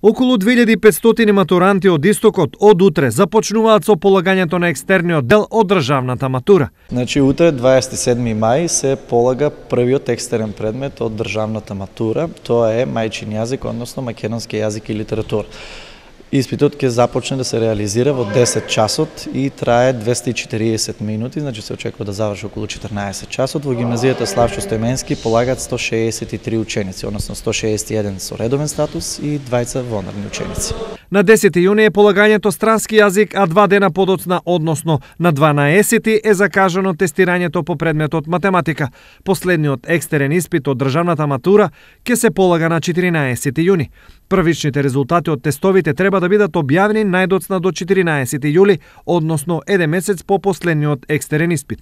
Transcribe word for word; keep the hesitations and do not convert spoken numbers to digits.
Околу две илјади и петстотини матуранти од Истокот од утре започнуваат со полагањето на екстерниот дел од државната матура. Значи утре дваесет и седми мај се полага првиот екстерен предмет од државната матура, тоа е мајчин јазик, односно македонски јазик и литература. Испитот ќе започне да се реализира во десет часот и трае двесте и четириесет минути, значи се очекува да заврши околу четрнаесет часот. Во гимназијата Славчо Стојменски полагаат сто шеесет и три ученици, односно сто шеесет и еден со редовен статус и двајца вонорни ученици. На десети јуни е полагањето странски јазик, а два дена подоцна, односно на дванаесети е закажано тестирањето по предметот математика. Последниот екстерен испит од државната матура ќе се полага на четиринаесети јуни. Првичните резултати од тестовите треба да бидат објавени најдоцна до четиринаесети јули, односно еден месец по последниот екстерен испит.